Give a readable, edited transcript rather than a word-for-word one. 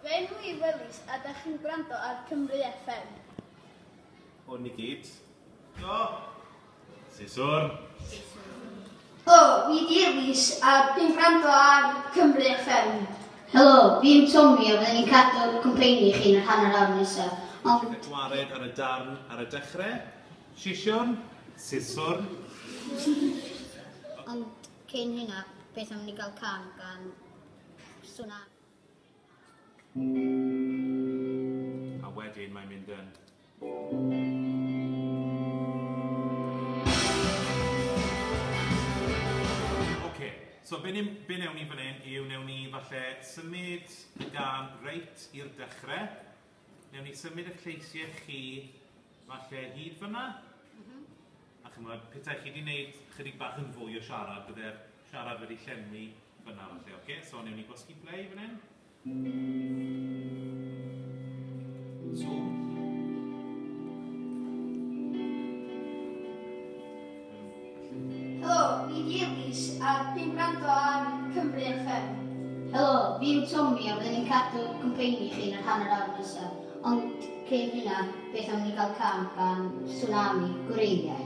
Fy enw i yw Elis a dach chi'n gwrando ar Cymru FM. Hwn i gyd. Do! Siswrn. Helo, fi 'di Elis a dwi'n gwrando ar Cymru FM. Helo, fi yw Tomi a fydden ni'n cadw cwmpeini i chi yn yr hanner awr nesaf. Ond... Cael gwared ar y darn ar y dechrau. Sisiwrn. Siswrn. Ond cyn hynna, beth am ni gael cân gan Sŵn A wedyn mae'n mynd yn... Ocê, so be ni, be wnewn ni fan hyn yw wnewn ni falle symud y gân reit i'r dechrau. Wnewn ni symud eich lleisiau chi falle hyd fan'na. A chimod, petai chi 'di wneud chydig bach yn fwy o siarad, bydde'r siarad wedi llenwi fan'na falle, ocê? So wnewn ni gwasgu play fan hyn. Zoom. Helo, fi 'di Elis a dwi'n gwrando ar Cymru FM. Helo, fi yw Tomi a fydden ni'n cadw cwmpeini i chi yn yr hanner awr nesaf. Ond cyn hynna, beth am ni gael cân gan Sŵnami, Gwreiddiau?